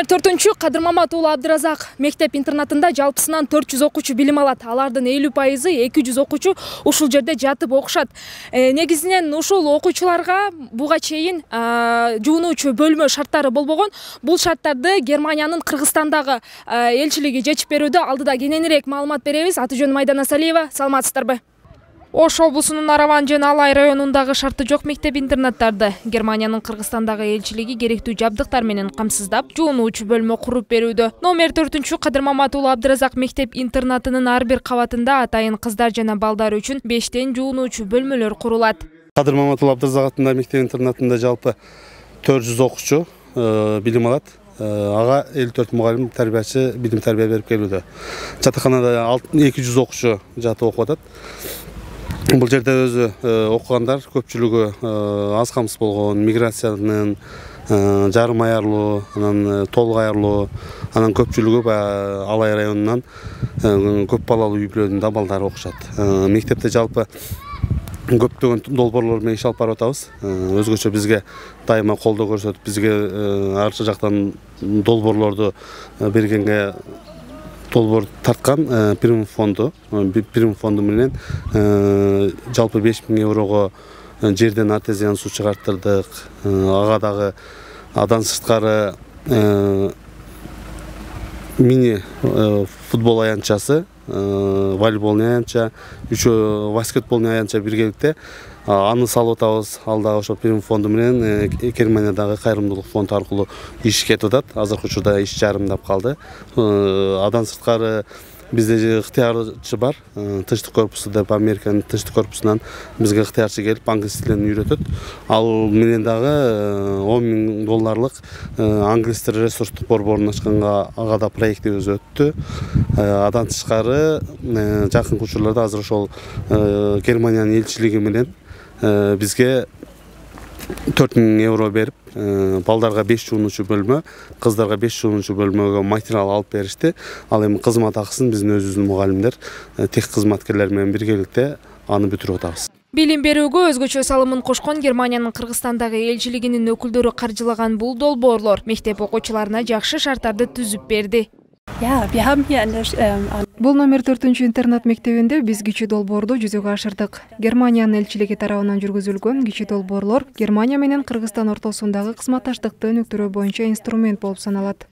Номер 4 Кадыр Мамат уулу Абдыразак мектеп интернатында жалпысынан 400 окуучу билим алат. Алардын 50% 200 окуучу ушул жерде жатып окушат. Негизинен ушул окуучуларга буга чейин жуунуучу бөлмө шарттары болбогон. Бул шарттарды Германиянын Кыргызстандагы элчилиги чечип берүүдө. Алдыда кененирээк маалымат беребиз. Аты жөнүм Айдана Салиева. Саламатсыздарбы? Ош облусунун Араван жана Алай районундагы шарты жок мектеп-интернаттарды Германиянын Кыргызстандагы элчилиги керектүү жабдыктар менен камсыздап, жуунуучу бөлмө куруп берүүдө. Номер 4 Кадыр Мамат уулу Абдыразак мектеп-интернатынын ар бир кабатында атайын кыздар жана балдар үчүн 5тен жуунуучу бөлмөлөр курулат. Кадыр Мамат уулу Абдыразак атындагы мектеп-интернатында жалпы 400 окуучу билим алат. Ага 54 мугалим тарбиячы билим тарбия берип келүүдө. Жатаканада 200 окуучу жатып окуп атат. Бул жерде өзү окугандар көпчүлүгү аз камсыз болгон, миграциянын жарым аярлуу, анан толук аярлуу, анан көпчүлүгү Алай районунан көп балалуу үй бүлөнүн балдары окушат. Мектепте жалпы көптөгөн долбоорлор менен иш алып барып атабыз. Өзгөчө бизге дайыма колдоо көрсөтүп, бизге ар жактан долбоорлорду бергенге долбоор тарткан Прим фонду менен жалпы 5000 еврого жерден артезиан суу чыгарттырдык. Ага дагы адан сырткары мини футбол аянтчасы, волейболный аянтча, баскетболный аянтча биргеликте аны салып атабыз. Ал дагы ошо Прим фонду менен Германиядагы кайрымдуулук фонд аркылуу иш кетип атат. Азыркы учурда иш жарымдап калды. Адан сырткары бизде ыктыярчы бар. Тынчтык корпусу деп Американын тынчтык корпусунан бизге ыктыярчы келип англис тилин үйрөтөт. Ал менен дагы $10,000 англис тили ресурстук борборун ачканга ага да проектибиз өттү. Адан тышкары жакынкы учурларда азыр ошол Германиянын элчилиги менен бизге 4000 евро берип, балдарга 5 жуунуучу бөлмө, кыздарга 5 жуунуучу бөлмөгө материал алып беришти. Ал эми кызмат акысын биздин өзүбүздүн мугалимдер, тех кызматкерлер менен биргеликте аны бүтүрүп атабыз. Билим берүүгө өзгөчө салымын кошкон Германиянын Кыргызстандагы элчилигинин өкүлдөрү каржылаган бул долбоорлор мектеп окуучуларына жакшы шарттарды түзүп берди. Бул номер 4 интернат мектебинде биз кичи долбоорду жүзөгө ашырдык. Германиянын элчилиги тарабынан жүргүзүлгөн кичи долбоорлор Германия менен Кыргызстан ортосундагы кызматташтыкты өнүктүрүү боюнча инструмент болуп саналат.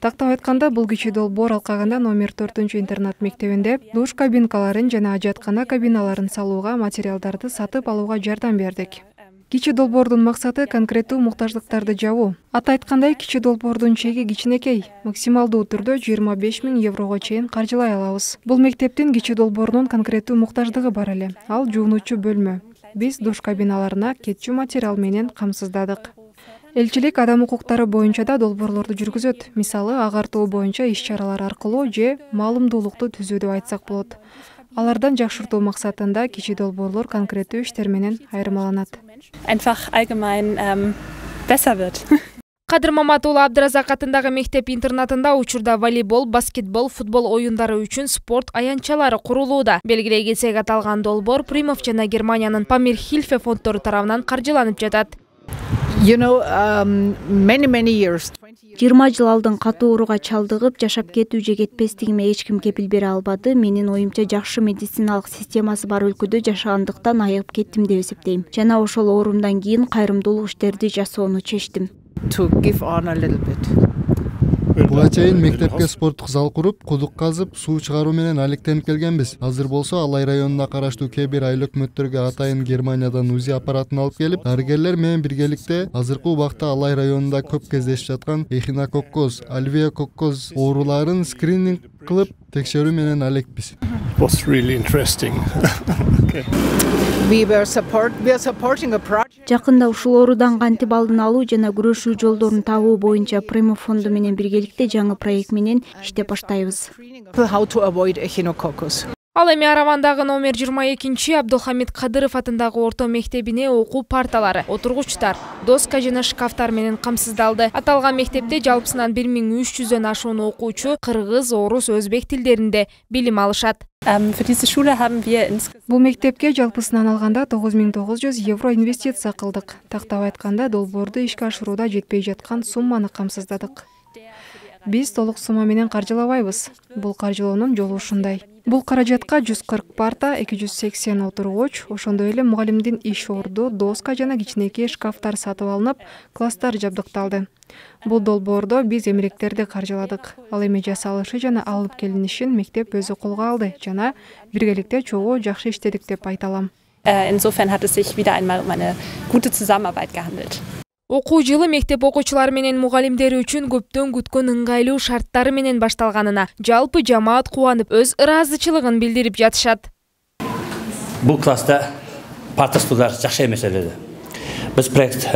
Тактап айтканда, бул кичи долбоор алкагында номер 4 интернат мектебинде душ кабинкаларын жана ажаткана кабиналарын салууга, материалдарды сатып алууга жардам бердик. Кичи долбоордун максаты конкреттүү муктаждыктарды жабуу. Аты айткандай, кичи долбоордун чеги кичинекей, максималдуу түрдө 25.000 еврого чейин каржылай алабыз. Бул мектептин кичи долбоорунун конкреттүү муктаждыгы бар эле. Ал жуунуучу бөлмө. Биз душ кабиналарына кетчү материал менен камсыздадык. Элчилик адам укуктары боюнча да долбоорлорду жүргүзөт. Мисалы, агартуу боюнча иш-чаралар аркылуу же маалымдуулукту түзүү деп айтсак болот. Алардан жакшыртуу максатында кичи долбоорлор конкреттүү иштер менен айырмаланат. Einfach allgemein besser wird. Кадыр Мамат уулу Абдыразак атындагы мектеп-интернатында учурда волейбол, баскетбол, футбол оюндары үчүн спорт аянтчалары курулууда. Белгилей кетсек, аталган долбоор Примов жана Германиянын Памир-Хильфе фонддору тарабынан каржыланып жатат. 20 жыл алдын катуу ооруга чалдыгып, жашап кетүү же кетпестигиме эч ким кепил бере албады. Менин оюмча жакшы медициналык системасы бар өлкөдө жашагандыктан айыгып кеттим деп эсептейм. Жана ошол оорумдан кийин кайрымдуулук иштерди жасоону чечтим. Буга чейин мектепке спорттук зал куруп, кудук казып, суу чыгаруу менен алектенип келгенбиз. Азыр болсо Алай районуна караштуу кээ бир айыл өкмөттөргө атайын Германиядан УЗИ аппаратын алып келип, дарыгерлер менен биргеликте азыркы убакта Алай районунда көп кездешип жаткан эхинококкоз, альвеококкоз ооруларын скрининг кылып, текшерүү менен алекпиз. Жакында ушул оорудан кантип алдын алуу жана күрөшүү жолдорун табуу боюнча Примов фонду менен биргеликте жаңы проект менен иштеп баштайбыз. Ал эми Аравандагы номер 22 Абдулхамид Кадыров атындагы орто мектебине окуу парталары, отургучтар, доска жана шкафтар менен камсыздалды. Аталган мектепте жалпысынан 1300дөн ашуун окуучу кыргыз, орус, өзбек тилдеринде билим алышат. Бул мектепке жалпысынан алганда 9900 евро инвестиция кылдык. Тактап айтканда, долбоорду ишке ашырууда жетпей жаткан сумманы камсыздадык. Биз толук сума менен каржылабайбыз. Бул каржылоонун жолу ушундай. Бул каражатка 140 парта, 280 отургуч, ошондой эле мугалимдин иш орду, доска жана кичинекей шкафтар сатып алынып, класстар жабдыкталды. Бул долбоордо биз эмеректерди каржыладык. Ал эми жасалышы жана алып келинишин мектеп өзү колго алды жана биргеликте чогуу жакшы иштедик деп айта алам. Insofern hat es sich wieder einmal um eine gute Zusammenarbeit gehandelt. Окуу жылы мектеп окуучулары менен мугалимдери үчүн көптөн күткөн ыңгайлуу шарттары менен башталганына жалпы жамаат кубанып, өз ыраазычылыгын билдирип жатышат. Бул класста парта стулдар жакшы эмес эле. Биз проект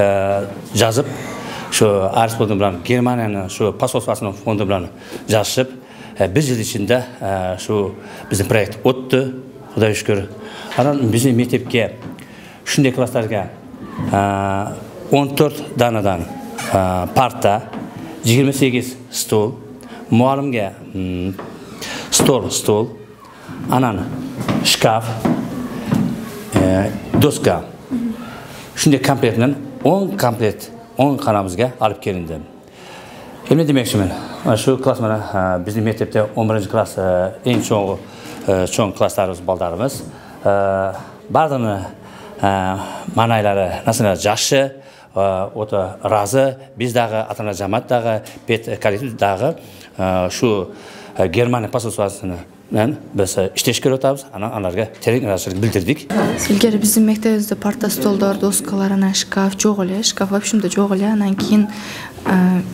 жазып, şu Арыс фонду менен Германиянын şu посольствосунун фонду менен жазышып, бир жыл ичинде şu биздин проект өттү, Кудайга шүкүр. Анан биздин мектепке ушундай класстарга 14 данадан парта, 28 стол, muallimga stol, анан шкаф, доска. Shunday komplektdan 10 komplekt 10 xonamizga olib kelindi. Endi demoqchiman, shu klass mana bizning maktabda 11-klass eng cho'ng klasslarimiz bolalarimiz. Bardini ma'nolari nasalar yaxshi, o'ta rozi, bizdagi ota-ona jamoatdagi, pet kollektivdagi shu Germaniya posolstvosini biz ishlashga o'tamiz, ularga terak rozichilik bildirdik. Ilgari bizning maktabimizda parta, stollar, doskalar, shkaf yo'q edi. Shkaf вообще yo'q edi. Анан keyin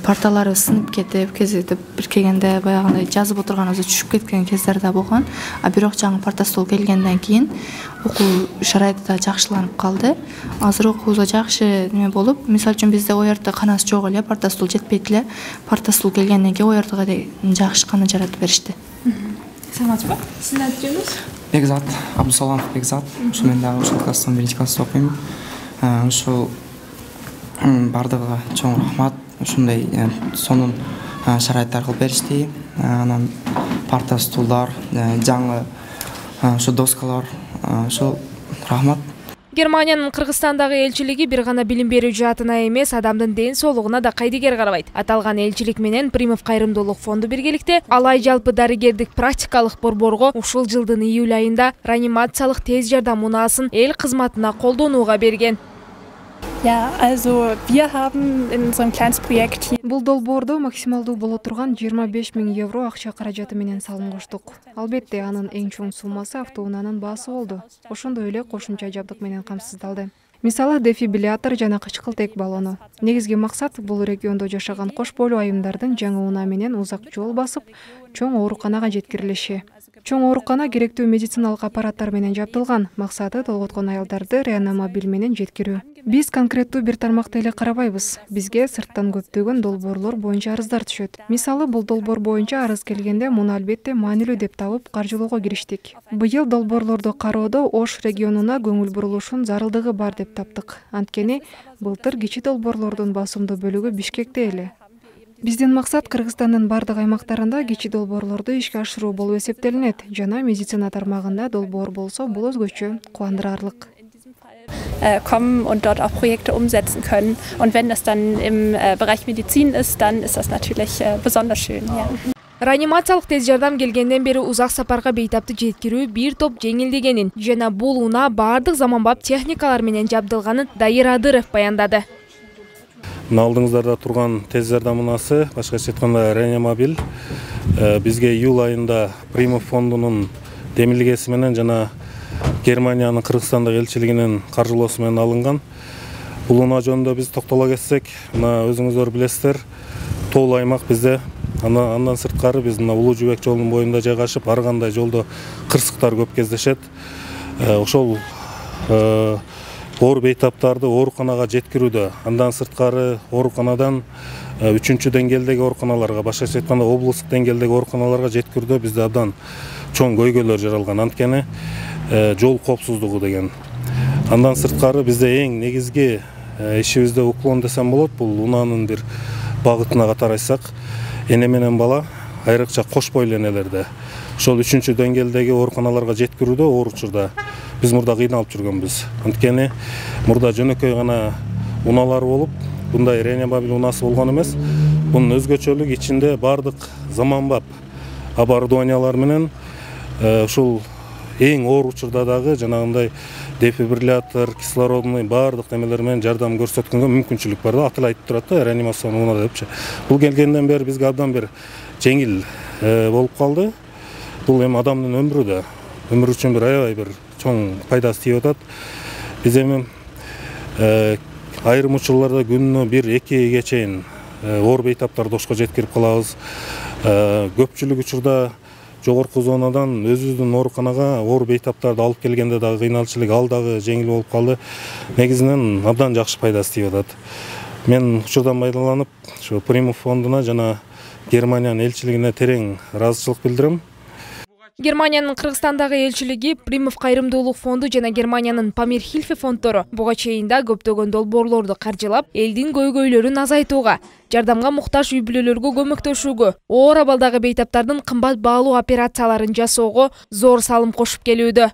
partalari sinib ketib, kezde bir kelganda boyag'inday yozib o'tirganimizda tushib ketgan kezlarda bo'lgan. Biroq жаңы parta, stol kelgandan keyin o'quv sharoiti yaxshilanib qoldi. Hozir o'quvga yaxshi nima bo'lib, misol uchun bizda o yerda xonasi yo'q edi, parta, stol жетпейdi. Parta, stol kelgandan keyin o yerda yaxshi xona jaratib berishdi. Саламатсызбы? Сиздин аты-жөнүңүз? Бекзат, Абдусаламов Бекзат. Мен дагы ушул класстан 1-классты окуйм. Ушул бардыгы чоң рахмат. Ушундай сонун шарайттар кылып беришти. Анан парта, стулдар, жаңы ушу доскалар, ушул рахмат. Германиянын Кыргызстандагы элчилиги бир гана билим берүү жаатына эмес, адамдын ден соолугуна да кайдыгер карабайт. Аталган элчилик менен Примов кайрымдуулук фонду биргеликте алай жалпы дарыгердик практикалык борборго ушул жылдын июль айында реанимациялык тез жардам унаасын эл кызматына колдонууга берген. Ja, also wir haben in unserem Kleinstprojekt hier Бул долбоордо максималдуу боло турган 25 000 евро акча каражаты менен салым коштук. Албетте анын эң чоң суммасы автоунаанын баасы болду. Ошондой эле кошумча жабдык менен камсыздалды. Мисалы дефибриллятор жана кычкылтек баллону. Негизги максат бул региондо жашаган кош бойлуу айымдардын жаңы унаа менен узак жол басып, чоң ооруканага жеткирилиши. Чоң оорукана керектүү медициналык аппараттар менен жабдылган. Максаты толготкон аялдарды реанимобиль менен жеткирүү. Биз конкреттүү бир тармакты эле карабайбыз. Бизге сырттан көптөгөн долбоорлор боюнча арыздар түшөт. Мисалы бул долбоор боюнча арыз келгенде муну албетте маанилүү деп табып каржылоого кириштик. Быйыл долбоорлорду кароодо Ош регионуна көңүл бурулушун зарылдыгы бар деп таптык. Анткени былтыр кичи долбоорлордун басымдуу бөлүгү Бишкекте эле. Биздин максат Кыргызстандын бардык аймактарында кичи долбоорлорду ишке ашыруу болуп эсептелинет. Жана медицина тармагында долбоор болсо бул өзгөчө кубандырарлык. kommen und dort auch Projekte umsetzen können. Und wenn das dann im Bereich Medizin ist, dann ist das natürlich besonders schön. Ja. Реанимациялык тез жардам келгенден бери узак сапарга бейтапты жеткирүү бир топ жеңилдегенин жана бул унаа бардык заманбап техникалар менен жабдылганын Дайыр Адыров баяндады. Мына алдыңыздарда турган тез жардам унаасы, башкача айтканда реанимобиль, бизге июль айында Примов фондунун демилгеси менен жана Германиянын Кыргызстандагы элчилигинин каржылоосу менен алынган. Бул унаа жөнүндө биз токтоло кетсек, мына өзүңүздөр билесиздер, тоолуу аймак бизде. Андан сырткары биз мына Улуу Жүүбек жолунун боюнда жайгашып, ар кандай жолдо кырсыктар көп кездешет. Ошол оор бейтаптарды ооруканага жеткирүүдө, андан сырткары ооруканадан 3-чү деңгээлдеги ооруканаларга, башкача айтканда облустук деңгээлдеги ооруканаларга жеткирүүдө бизде абдан чоң көйгөйлөр жаралган. Анткени жол коопсуздугу деген. Андан сырткары бизде эң негизги ишибизде уклон десем болот, бул унаанын бир багытына катар айтсак, эне менен бала айрыкча кош бойлуу энелерде ошол 3-чү деңгээлдеги ооруканаларга жеткирүүдө оор учурда биз мурда кыйналып жүргөнбүз. Анткени мурда жөнөкөй гана унаалар болуп, мындай реанимобиль унаасы болгон эмес. Бунун өзгөчөлүгү ичинде бардык заманбап оборудованиялар менен ушул эң оор учурда дагы жанагындай дефибриллятор, кислородный бардык немелер менен жардам көрсөткөнгө мүмкүнчүлүк бар да. Аты эле айтып турат да, реанимацион унаа депчи. Бул келгенден бери бизге абдан бир жеңил болуп калды. Бул эми адамдын өмүрү үчүн бир аябай бир чоң пайдасы тийип атат. Биз эми айрым учурларда күнүнө 1-2 чейин оор бейтаптарды ошко жеткирип калабыз. Көпчүлүк учурда жогорку зонадан өзүбүздүн ооруканага оор бейтаптарды алып келгенде дагы кыйналчылык, ал дагы жеңил болуп калды. Негизинен абдан жакшы пайдасы тийип атат. Мен учурдан пайдаланып, ушу Примов фондуна жана Германиянын элчилигине терең ыраазычылык билдирем. Германиянын Кыргызстандагы элчилиги, Примов кайрымдуулук фонду жана Германиянын Памир Хильфе фонддору буга чейин да көптөгөн долбоорлорду каржылап, элдин көйгөйлөрүн азайтууга, жардамга муктаж үй бүлөлөргө көмөктөшүүгө, оор абалдагы бейтаптардын кымбат баалуу операцияларын жасоого зор салым кошуп келүүдө.